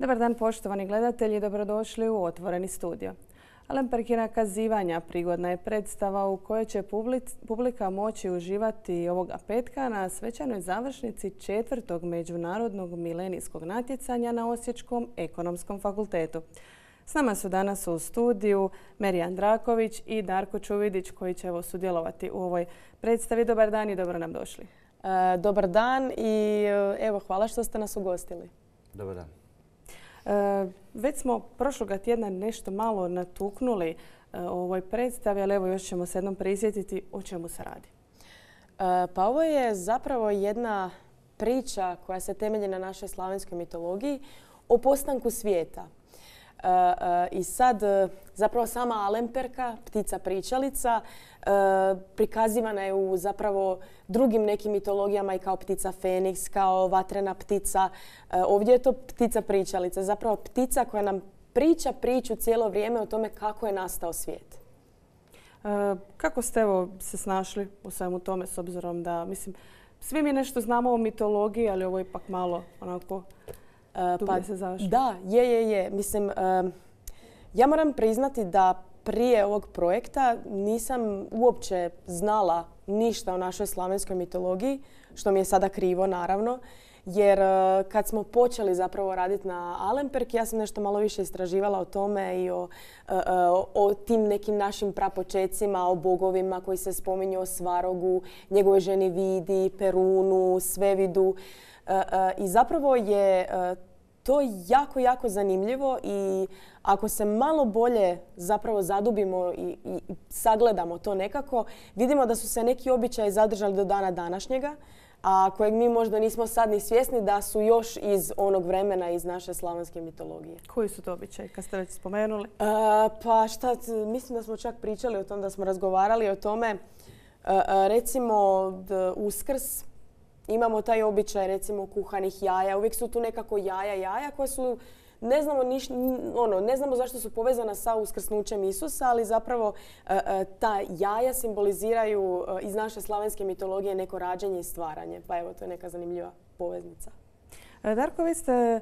Dobar dan poštovani gledatelji, dobrodošli u Otvoreni studio. Alemperkina kazivanja prigodna je predstava u kojoj će publika moći uživati ovoga petka na svečanoj završnici 4. međunarodnog milenijskog natjecanja na Osječkom ekonomskom fakultetu. S nama su danas u studiju Merijan Draković i Darko Čuvidić koji će sudjelovati u ovoj predstavi. Dobar dan i dobro nam došli. Dobar dan i evo hvala što ste nas ugostili. Dobar dan. Već smo prošloga tjedna nešto malo natuknuli o ovoj predstavi, ali evo još ćemo se jednom prisjetiti o čemu se radi. Pa ovo je zapravo jedna priča koja se temelji na našoj slavenskoj mitologiji o postanku svijeta. I sad zapravo sama Alemperka, ptica pričalica, prikazivana je u zapravo drugim nekim mitologijama i kao ptica Feniks, kao vatrena ptica. Ovdje je to ptica pričalica, zapravo ptica koja nam priča priču cijelo vrijeme o tome kako je nastao svijet. Kako ste se snašli u svemu tome s obzirom da, svi mi nešto znamo o mitologiji, ali ovo je ipak malo onako... Da, je. Ja moram priznati da prije ovog projekta nisam uopće znala ništa o našoj slavenskoj mitologiji, što mi je sada krivo naravno, jer kad smo počeli zapravo raditi na Alemperki, ja sam nešto malo više istraživala o tome i o tim nekim našim prapočecima, o bogovima koji se spominju, o Svarogu, njegove ženi Vidi, Perunu, Svevidu. I zapravo je to jako zanimljivo i ako se malo bolje zapravo zadubimo i sagledamo to nekako, vidimo da su se neki običaji zadržali do dana današnjega, a kojeg mi možda nismo sad ni svjesni da su još iz onog vremena, iz naše slavenske mitologije. Koji su to običaji, kad ste već spomenuli? Mislim da smo čak pričali o tom, da smo razgovarali o tome. Recimo Uskrs. Imamo taj običaj recimo kuhanih jaja. Uvijek su tu nekako jaja koja su, ne znamo zašto su povezana sa uskrsnućem Isusa, ali zapravo ta jaja simboliziraju iz naše slavenske mitologije neko rađanje i stvaranje. Pa evo, to je neka zanimljiva poveznica. Darko, vi ste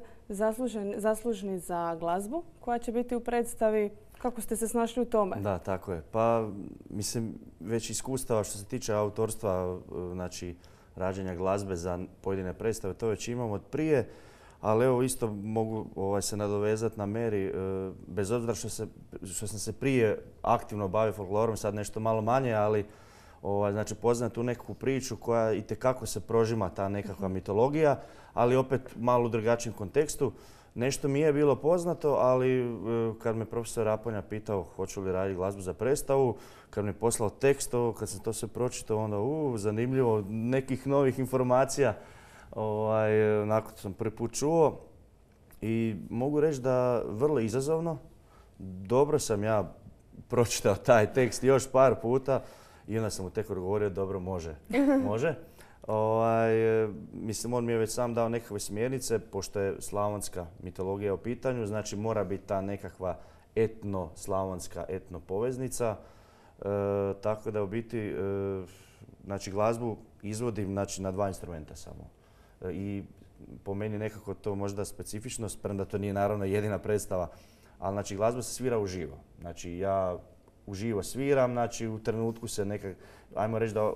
zaslužni za glazbu koja će biti u predstavi. Kako ste se snašli u tome? Da, tako je. Pa, već iskustava što se tiče autorstva, znači rađenja glazbe za pojedine predstave, to već imamo od prije, ali evo isto mogu se nadovezati na Meri, bez obzira što sam se prije aktivno bavio folklorom, sad nešto malo manje, ali znači poznajem tu nekakvu priču koja itekako se prožima, ta nekakva mitologija, ali opet malo u drugačijem kontekstu. Nešto mi je bilo poznato, ali kad me profesor Raponja pitao hoću li raditi glazbu za predstavu, kad mi je poslao tekst, kad sam to sve pročitao, onda zanimljivo, nekih novih informacija, nakon sam prvi put čuo. I mogu reći da vrlo izazovno, dobro sam ja pročitao taj tekst još par puta i onda sam mu tek odgovorio dobro, može. On mi je već sam dao nekakve smjernice, pošto je slavonska mitologija u pitanju, znači mora biti ta nekakva etno-slavonska etno-poveznica. Tako da u biti znači, glazbu izvodim znači, na 2 instrumenta samo. I po meni nekako to možda specifičnost, premda to nije naravno jedina predstava, ali znači, glazba se svira uživo. Znači ja uživo sviram, znači u trenutku se ajmo reći da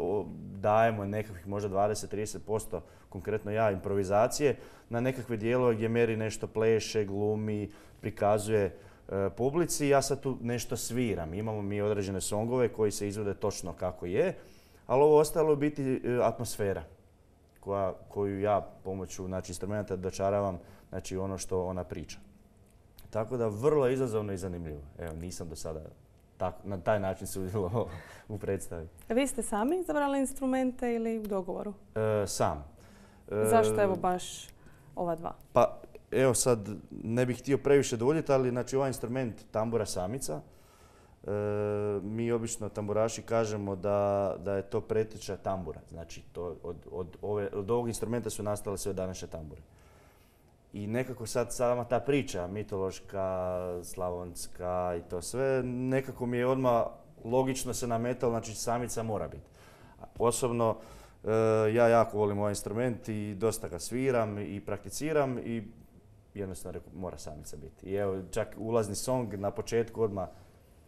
dajemo nekakvih možda 20-30%, konkretno ja, improvizacije na nekakve dijelove gdje Meri nešto pleše, glumi, prikazuje publici. Ja sad tu nešto sviram. Imamo mi određene songove koji se izvode točno kako je, ali ovo ostalo je biti atmosfera koju ja pomoću znači, instrumenta dočaravam znači, ono što ona priča. Tako da vrlo izazovno i zanimljivo. Evo, nisam do sada na taj način sudjelovao u predstavi. Vi ste sami izabrali instrumente ili u dogovoru? Sam. Zašto evo baš ova 2? Pa evo sad ne bih htio previše duljiti, ali znači ovaj instrument tambura samica. Mi obično tamburaši kažemo da je to preteča tambura. Znači od ovog instrumenta su nastale sve današnje tambure. I nekako sad sama ta priča mitološka, slavonska i to sve, nekako mi je odmah logično se nametalo, znači samica mora biti. Osobno ja jako volim ovaj instrument i dosta ga sviram i prakticiram i jednostavno mora samica biti. I evo, čak ulazni song na početku odmah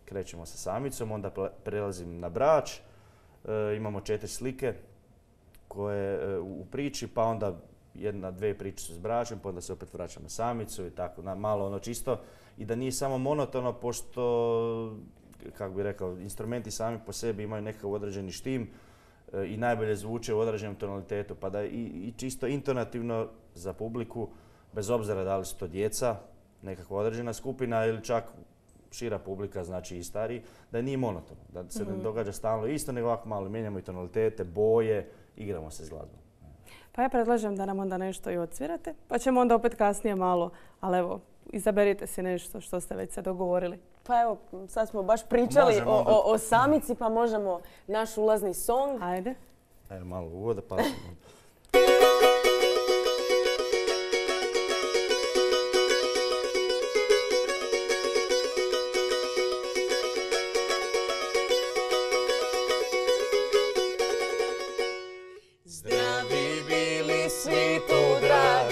krećemo sa samicom, onda prelazim na brač. Imamo 4 slike koje u priči, pa onda 1-2 priče su s bračem, pa onda se opet vraćamo na samicu i tako, malo ono čisto. I da nije samo monotono, pošto, kako bih rekao, instrumenti sami po sebi imaju nekakav određeni štim i najbolje zvuče u određenom tonalitetu, pa da i čisto intonativno za publiku, bez obzira da li su to djeca, nekakva određena skupina ili čak šira publika, znači i stariji, da nije monotono, da se ne događa stalno isto, nego ovako malo mijenjamo i tonalitete, boje, igramo se s glazbom. Pa ja predlažem da nam onda nešto i odsvirate, pa ćemo onda opet kasnije malo, ali evo, izaberite si nešto što ste već se dogovorili. Pa evo, sad smo baš pričali o samici, pa možemo naš ulazni song. Ajde. Ajde malo uvoda, pa... Zdravi bili svi tu drag,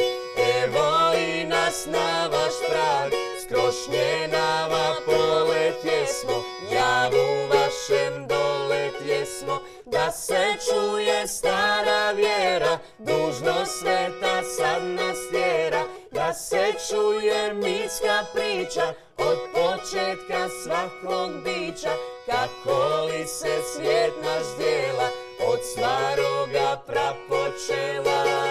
evo i nas na vaš prag. Skrošnjenava poletjesmo, javu vašem doletjesmo. Da se čuje stara vjera, dužnost sveta sad nas tjera. Da se čuje mitska priča, od početka svakog bića. Kako li se svijet naš dijela, od staroga prapočela.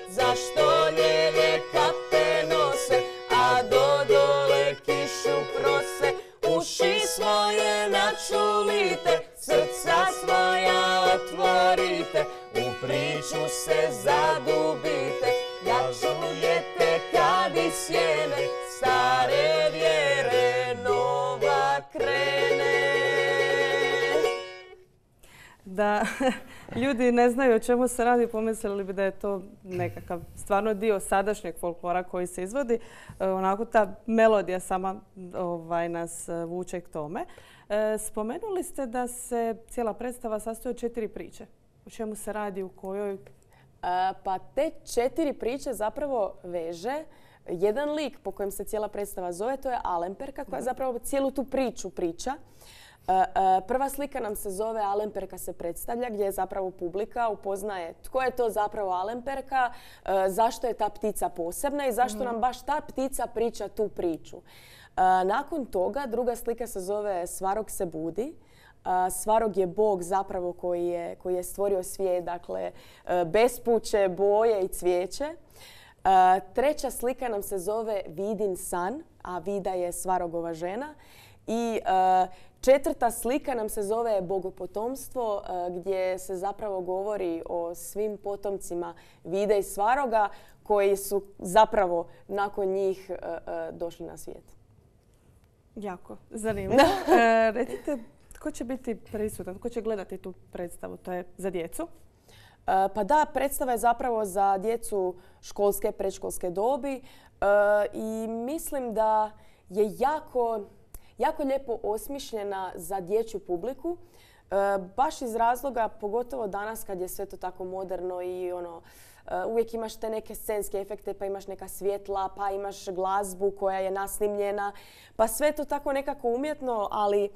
Zašto lijeve kape nose, a do dole kišu prose. Uši svoje načulite, srca svoja otvorite. U priču se zadubite, da čujete kad iz sjene stare vjere nova krene. Da ljudi ne znaju o čemu se radi, pomislili bi da je to nekakav stvarno dio sadašnjeg folklora koji se izvodi. Onako ta melodija sama nas vuče k tome. Spomenuli ste da se cijela predstava sastoji od 4 priče. O čemu se radi, u kojoj? Pa te 4 priče zapravo veže jedan lik po kojem se cijela predstava zove, to je Alemperka koja zapravo cijelu tu priču priča. Prva slika nam se zove Alemperka se predstavlja, gdje je zapravo publika upoznaje tko je to zapravo Alemperka, zašto je ta ptica posebna i zašto nam baš ta ptica priča tu priču. Nakon toga druga slika se zove Svarog se budi. Svarog je bog zapravo koji je stvorio svijet, dakle bespuće, boje i cvijeće. Treća slika nam se zove Vidin san, a Vida je Svarogova žena. I četvrta slika nam se zove Bogopotomstvo, gdje se zapravo govori o svim potomcima Vide i Svaroga koji su zapravo nakon njih došli na svijet. Jako zanimljivo. Recite, tko će biti prisutan, tko će gledati tu predstavu? To je za djecu? Pa da, predstava je zapravo za djecu školske, predškolske dobi i mislim da je jako lijepo osmišljena za dječju publiku. Baš iz razloga, pogotovo danas kad je sve to tako moderno i uvijek imaš te neke scenske efekte, pa imaš neka svjetla, pa imaš glazbu koja je nasnimljena, pa sve to tako nekako umjetno, ali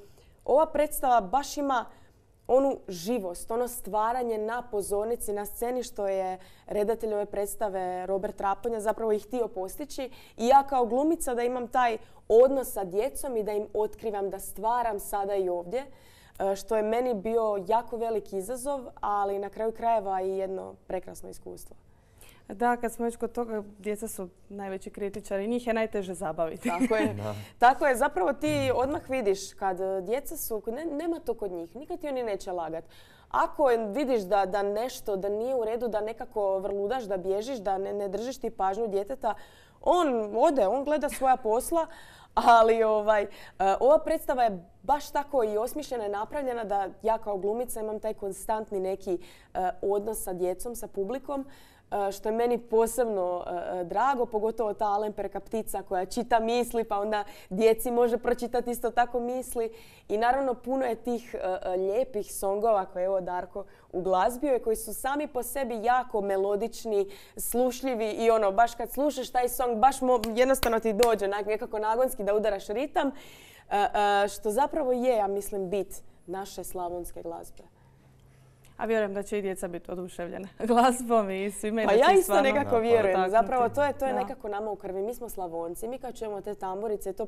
ova predstava baš ima onu živost, ono stvaranje na pozornici, na sceni, što je redatelj ove predstave Robert Raponja zapravo i htio postići. I ja kao glumica da imam taj odnos sa djecom i da im otkrivam, da stvaram sada i ovdje, što je meni bio jako veliki izazov, ali na kraju krajeva i jedno prekrasno iskustvo. Da, kad smo već kod toga, djeca su najveći kritičari, njih je najteže zabaviti. Tako je. Tako je, zapravo ti odmah vidiš kad djeca su, nema to kod njih, nikad ti oni neće lagat. ako vidiš da nešto, da nije u redu, da nekako vrludaš, da bježiš, da ne držiš ti pažnju djeteta, on ode, on gleda svoja posla, ali ova predstava je baš tako i osmišljena i napravljena da ja kao glumica imam taj konstantni neki odnos sa djecom, sa publikom, što je meni posebno drago, pogotovo ta Alemperka ptica koja čita misli, pa onda djeci može pročitati isto tako misli. I naravno puno je tih lijepih songova koje je evo Darko uglazbio i koji su sami po sebi jako melodični, slušljivi i baš kad slušaš taj song baš jednostavno ti dođe nekako nagonski da udaraš ritam, što zapravo je, ja mislim, bit naše slavonske glazbe. A vjerujem da će i djeca biti oduševljena glazbom i svime. Pa ja isto nekako vjerujem. Zapravo to je nekako nama u krvi. Mi smo Slavonci. Mi kad čujemo te tamburice to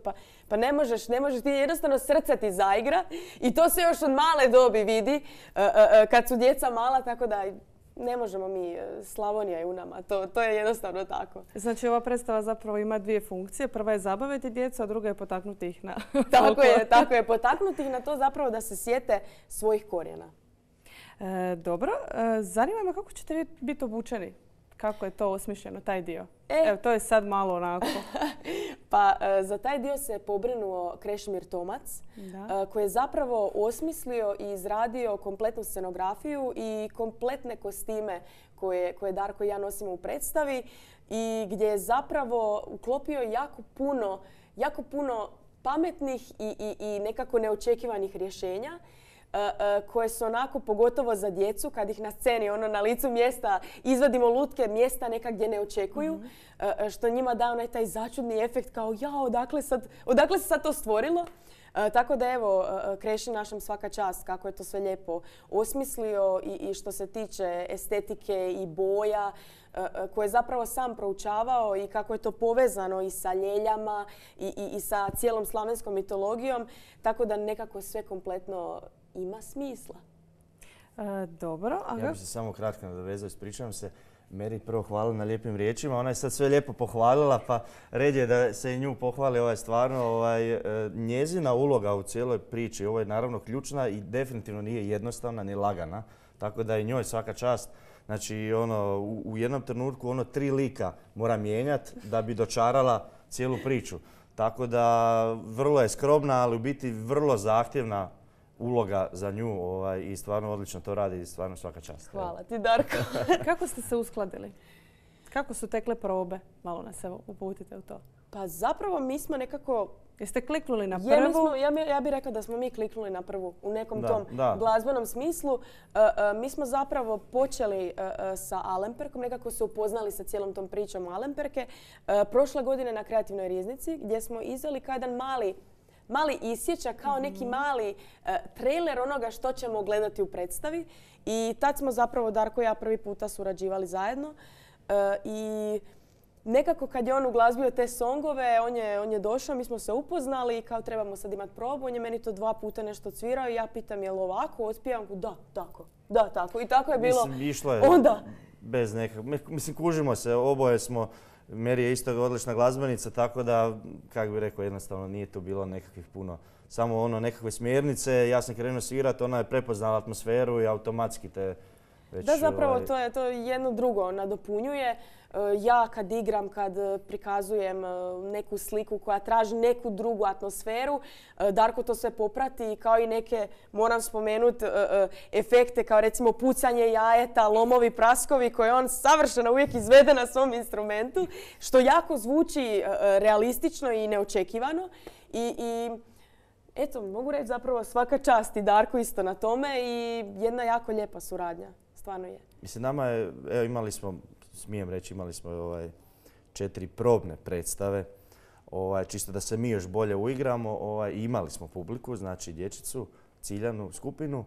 pa ne možeš ti jednostavno srce ti zaigra i to se još od male dobi vidi kad su djeca mala, tako da ne možemo mi, Slavonija je u nama. To je jednostavno tako. Znači ova predstava zapravo ima dvije funkcije. Prva je zabaviti djecu, a druga je potaknuti ih na... Tako je. Potaknuti ih na to zapravo da se sjete svojih korijena. Dobro. Zanima me kako ćete biti obučeni? Kako je to osmišljeno, taj dio? Evo, to je sad malo onako. Pa za taj dio se pobrinuo Krešimir Tomac, koji je zapravo osmislio i izradio kompletnu scenografiju i kompletne kostime koje Darko i ja nosimo u predstavi i gdje je zapravo uklopio jako puno pametnih i nekako neočekivanih rješenja koje su onako, pogotovo za djecu, kad ih na sceni, na licu mjesta izvadimo lutke, mjesta neka gdje ne očekuju, što njima da onaj taj začudni efekt kao odakle se sad to stvorilo. Tako da evo, Kreši našem svaka čast kako je to sve lijepo osmislio i što se tiče estetike i boja, koje je zapravo sam proučavao i kako je to povezano i sa ljeljama i sa cijelom slavenskom mitologijom, tako da nekako sve kompletno ima smisla. Dobro. Ja bih se samo kratko nadovezao, ispričavam se. Meri prvo hvala na lijepim riječima. Ona je sad sve lijepo pohvalila, pa red je da se i nju pohvali. Stvarno njezina uloga u cijeloj priči. Ovo je naravno ključna i definitivno nije jednostavna ni lagana. Tako da i njoj svaka čast. Znači u jednom trenutku 3 lika mora mijenjati da bi dočarala cijelu priču. Tako da vrlo je skromna, ali u biti vrlo zahtjevna uloga za nju i stvarno odlično to radi i stvarno svaka čast. Hvala ti, Darko. Kako ste se uskladili? Kako su tekle probe? Malo nas evo uputite u to. Pa zapravo mi smo nekako... Jeste kliknuli na prvu? Ja bih rekla da smo mi kliknuli na prvu u nekom tom glazbenom smislu. Mi smo zapravo počeli sa Alemperkom, nekako se upoznali sa cijelom tom pričom Alemperke. Prošle godine na Kreativnoj riznici gdje smo izveli kao jedan mali isječak, kao neki mali trailer onoga što ćemo gledati u predstavi. I tad smo zapravo, Darko i ja, prvi puta surađivali zajedno. I nekako kad je on uglazbio te songove, on je došao, mi smo se upoznali i kao trebamo sad imati probu. On je meni to 2 puta nešto cvirao i ja pitam je li ovako, otpivam, da, tako. I tako je bilo. Mislim, išlo je bez nekakvog, mislim, kužimo se, oboje smo. Meri je isto odlična glazbenica, tako da, kako bih rekao, jednostavno nije tu bilo nekakvih puno. Samo nekakve smjernice, ja sam krenuo svirati, ona je prepoznala atmosferu i automatski te već... Da, zapravo to jedno drugo nadopunjuje. Ja kad igram, kad prikazujem neku sliku koja traži neku drugu atmosferu, Darko to sve poprati kao i neke, moram spomenuti, efekte kao recimo pucanje jajeta, lomovi, praskovi koje on savršeno uvijek izvede na svom instrumentu, što jako zvuči realistično i neočekivano. I eto, mogu reći zapravo svaka čast i Darko isto na tome i jedna jako lijepa suradnja. Stvarno je. Mislim, nama je, evo imali smo 4 probne predstave, čisto da se mi još bolje uigramo. Imali smo publiku, znači dječicu, ciljanu skupinu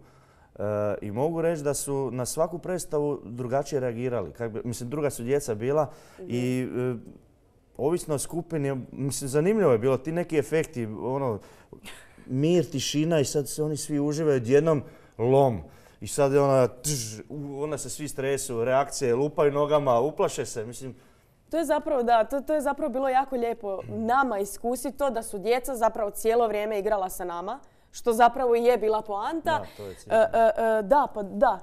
i mogu reći da su na svaku predstavu drugačije reagirali. Mislim, druga su djeca bila i ovisno o skupini, mislim, zanimljivo je bilo ti neki efekti, mir, tišina i sad se oni svi uživaju odjednom lom. I sad je onda se svi stresu, reakcije, lupaju nogama, uplaše se, mislim. To je zapravo bilo jako lijepo nama iskusiti to da su djeca zapravo cijelo vrijeme igrala sa nama. što zapravo je bila poanta. Da, to je cilj. Da, pa da.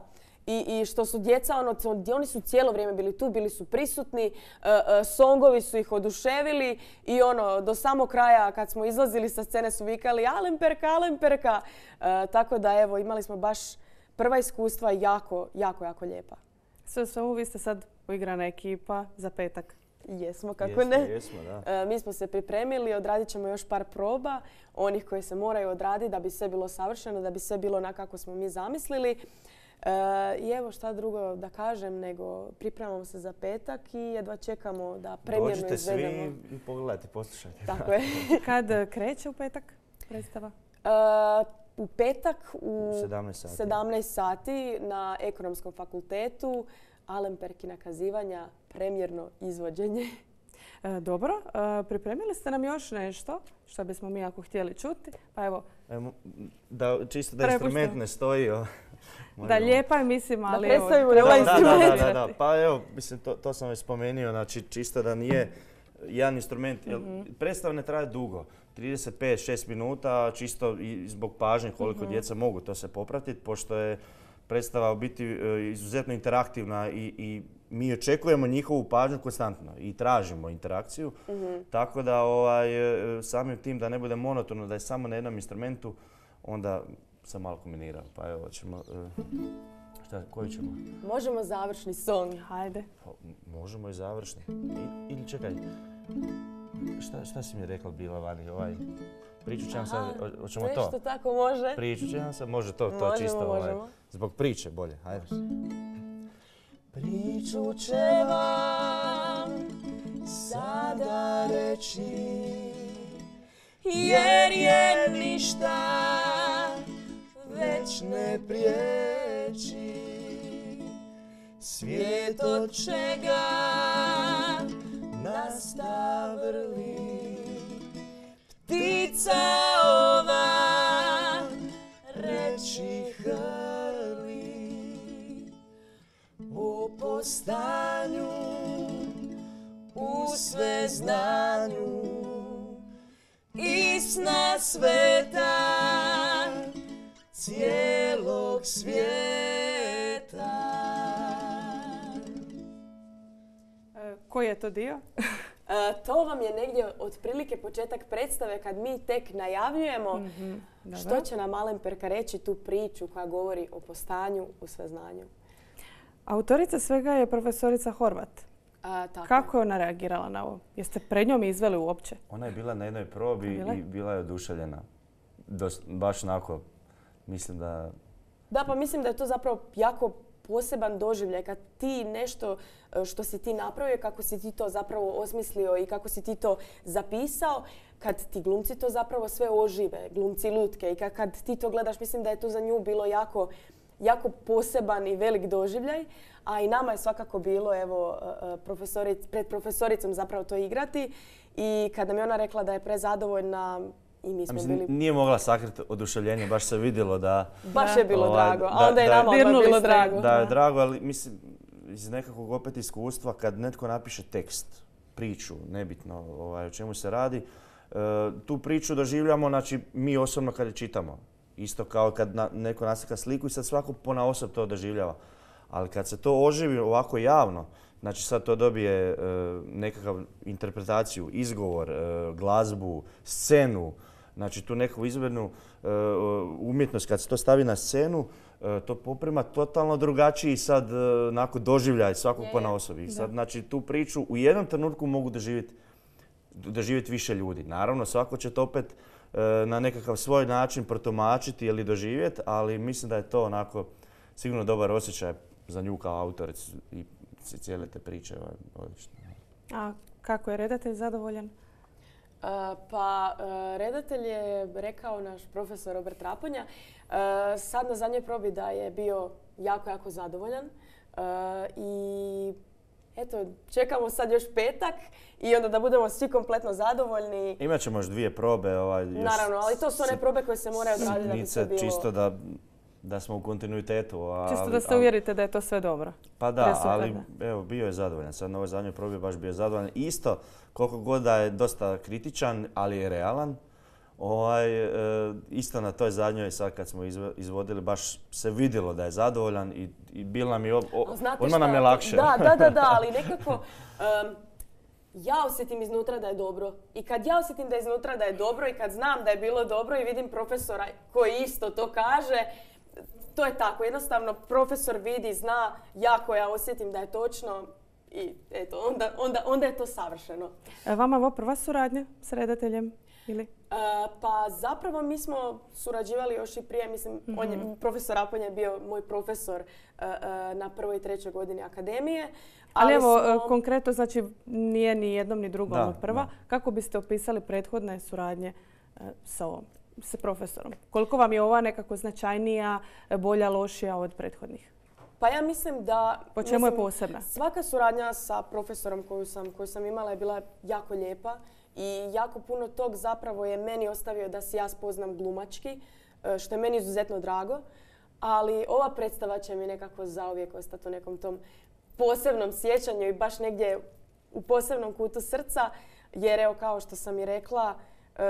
I što su djeca, oni su cijelo vrijeme bili tu, bili su prisutni, songovi su ih oduševili i do samog kraja kad smo izlazili sa scene su vikali Alemperka, Alemperka. Tako da evo, imali smo baš prva iskustva jako, jako, jako lijepa. Sve svemu, vi ste sad uigrana ekipa za petak. Jesmo, kako ne. Jesmo, da. Mi smo se pripremili, odradit ćemo još par proba, onih koje se moraju odraditi da bi sve bilo savršeno, da bi sve bilo onako kako smo mi zamislili. I evo šta drugo da kažem nego pripremamo se za petak i jedva čekamo da premijerno izvedemo. Dođite svi i pogledajte, poslušajte. Tako je. Kad kreće u petak predstava? U petak u 17 sati na Ekonomskom fakultetu Alemperkina kazivanja, premijerno izvođenje. Dobro, pripremili ste nam još nešto što bismo mi ako htjeli čuti. Pa evo, čisto da instrument ne stoji. Da, lijepa je, mislim, ali evo, treba instrument. Da. Pa evo, mislim, to sam već spomenuo, znači čisto da nije jedan instrument. Predstava ne traje dugo, 35-6 minuta, čisto i zbog pažnje koliko djeca mogu to se popratiti, pošto je predstava u biti izuzetno interaktivna i mi očekujemo njihovu pažnju konstantno i tražimo interakciju. Tako da samim tim da ne bude monotono, da je samo na jednom instrumentu, onda sam malo kombinirao. Pa evo, ćemo... Koju ćemo? Možemo završni song. Hajde. Možemo i završni. Ili čekaj, šta si mi rekla bila vani? Priču ćemo sad, hoćemo to? Nešto tako može. Priču ćemo sad, može to čisto. Možemo. Zbog priče bolje, hajde. Priču će vam sada reći, jer je ništa već ne priječi. Svijet od čega nasta vrli, ptica ova reći hrli. O postanju u sveznanju istina sveta cijelog svijeta. Koji je to dio? To vam je negdje otprilike početak predstave kad mi tek najavljujemo što će nam Alemperka reći tu priču koja govori o postanju u sveznanju. Autorica svega je profesorica Horvat. Tako. Kako je ona reagirala na ovo? Jeste pred njom izveli uopće? Ona je bila na jednoj probi i bila je oduševljena. Baš onako, mislim da... Da, pa mislim da je to zapravo jako poseban doživljaj kad ti nešto što si ti napravio, kako si ti to zapravo osmislio i kako si ti to zapisao, kad ti glumci to zapravo sve ožive, glumci lutke, i kad ti to gledaš, mislim da je to za nju bilo jako poseban i velik doživljaj, a i nama je svakako bilo evo, pred profesoricom zapravo to igrati, i kada mi ona rekla da je prezadovoljna i mi smo bili... Nije mogla sakriti oduševljenje, baš se vidjelo da... Baš je bilo drago, a onda je nama bilo drago. Da je drago, ali mislim, iz nekakvog opet iskustva, kad netko napiše tekst, priču, nebitno o čemu se radi, tu priču doživljamo, znači mi osobno kad je čitamo. Isto kao kad neko naslika sliku i sad svako ponaosob to doživljava. Ali kad se to oživi ovako javno, znači sad to dobije nekakav interpretaciju, izgovor, glazbu, scenu, znači tu neku izvednu umjetnost, kad se to stavi na scenu, to poprima totalno drugačiji sad onako doživljaj svakog ponaosob. I sad znači tu priču u jednom trenutku mogu doživjeti više ljudi. Naravno, svako će to opet na nekakav svoj način protumačiti ili doživjeti, ali mislim da je to onako sigurno dobar osjećaj za nju kao autoricu i cijele te priče. Odlično. A kako je redatelj zadovoljan? Redatelj je rekao naš profesor Robert Raponja sad na zadnjoj probi da je bio jako, jako zadovoljan i eto, čekamo sad još petak i onda da budemo svi kompletno zadovoljni. Imaćemo još 2 probe. Naravno, ali to su one probe koje se moraju odraditi da bi sve bilo... Čisto da smo u kontinuitetu. Čisto da se uvjerite da je to sve dobro. Pa da, ali evo, bio je zadovoljan. Sad na ovoj zadnjoj probi baš bio zadovoljan. Isto, koliko god da je dosta kritičan, ali je realan. Isto na toj zadnjoj, sad kad smo izvodili, baš se vidjelo da je zadovoljan i bilo nam je odmah nam je lakše. Da, ali nekako ja osjetim iznutra da je dobro. I kad ja osjetim da je iznutra da je dobro i kad znam da je bilo dobro i vidim profesora koji isto to kaže, to je tako. Jednostavno profesor vidi, zna, ja osjetim da je točno i eto, onda je to savršeno. Vama ovo prva suradnja s redateljem? Ili? Pa zapravo mi smo surađivali još i prije, mislim, profesor Aponja je bio moj profesor na prvoj i trećoj godini akademije. Ali evo, konkretno, znači nije ni jednom ni drugom prva. Da. Kako biste opisali prethodne suradnje sa profesorom? Koliko vam je ova nekako značajnija, bolja, lošija od prethodnih? Pa ja mislim da... Po čemu je posebna? Svaka suradnja sa profesorom koju sam imala je bila jako lijepa. I jako puno tog zapravo je meni ostavio da se ja spoznam glumački, što je meni izuzetno drago. Ali ova predstava će mi nekako zauvijek ostati u nekom tom posebnom sjećanju i baš negdje u posebnom kutu srca. Jer evo, kao što sam i rekla,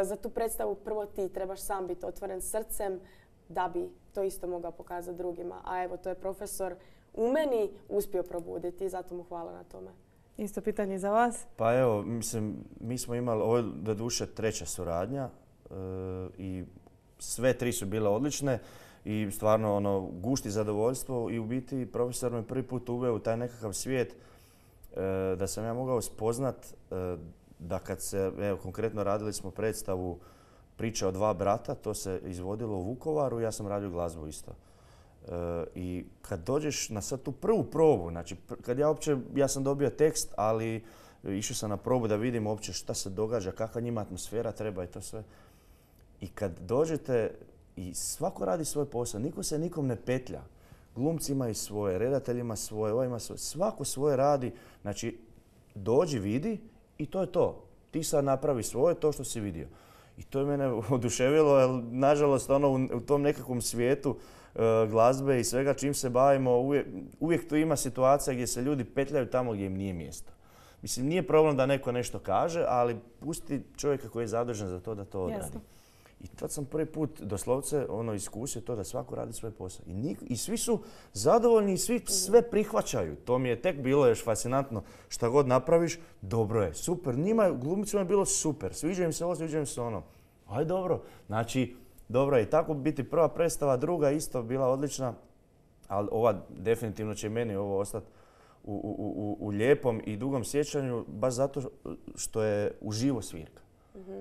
za tu predstavu prvo ti trebaš sam biti otvoren srcem da bi to isto mogao pokazati drugima. A evo, to je profesor u meni uspio probuditi i zato mu hvala na tome. Isto pitanje za vas. Pa evo, mislim, mi smo imali, ovo je doduše treća suradnja i sve tri su bile odlične i stvarno gušti zadovoljstvo i u biti profesor me prvi put uveo u taj nekakav svijet da sam ja mogao spoznat da kad se, evo konkretno radili smo predstavu Priča o dva brata, to se izvodilo u Vukovaru, ja sam radio glazbu isto. I kad dođeš na sad tu prvu probu, znači kad ja sam dobio tekst, ali išao sam na probu da vidim uopće šta se događa, kakva njima atmosfera treba i to sve. I kad dođete i svako radi svoj posao, niko se nikom ne petlja. Glumci imaju svoje, redatelj ima svoje, ovaj ima svoje, svako svoje radi. Znači dođi, vidi i to je to. Ti sad napravi svoje, to što si vidio. I to je mene oduševilo, jer nažalost u tom nekakvom svijetu glazbe i svega čim se bavimo, uvijek tu ima situacija gdje se ljudi petljaju tamo gdje im nije mjesto. Mislim, nije problem da neko nešto kaže, ali pusti čovjeka koji je zadužen za to da to odradi. Jasno. I tad sam prvi put doslovce iskusio to da svako radi svoj posao. I svi su zadovoljni i svi sve prihvaćaju. To mi je tek bilo još fascinantno. Šta god napraviš, dobro je, super. Glumicima je bilo super. Sviđa im se ovo, sviđa im se ono. Aj dobro. Znači, dobro je i tako biti prva predstava, druga isto bila odlična. Ali ova definitivno će meni ovo ostati u lijepom i dugom sjećanju, baš zato što je uživo svirka.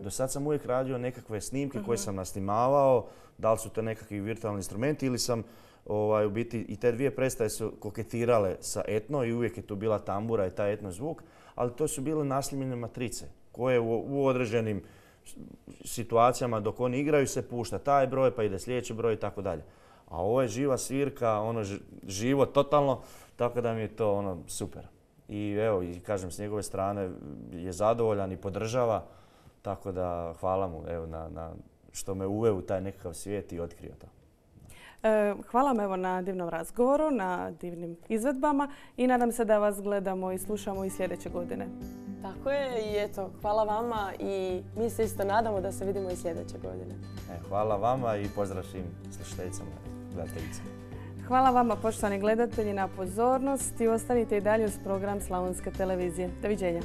Do sad sam uvijek radio nekakve snimke koje sam nasnimavao, da li su to nekakvi virtualni instrumenti ili sam u biti i te dvije predstave su koketirale sa etno i uvijek je tu bila tambura i taj etno zvuk, ali to su bile naslimljene matrice koje u određenim situacijama dok oni igraju se pušta taj broj pa ide sljedeći broj i tako dalje. A ovo je živa svirka, živo totalno, tako da mi je to super. I evo, i kažem, s njegove strane je zadovoljan i podržava. Tako da hvala mu na što me uveo u taj nekakav svijet i otkrio to. Hvala vam na divnom razgovoru, na divnim izvedbama i nadam se da vas gledamo i slušamo i sljedeće godine. Tako je i eto, hvala vama i mi se isto nadamo da se vidimo i sljedeće godine. Hvala vama i pozdrav svim slušateljicama i gledateljicama. Hvala vama poštovani gledatelji na pozornosti. Ostanite i dalje uz program Slavonske televizije. Doviđenja.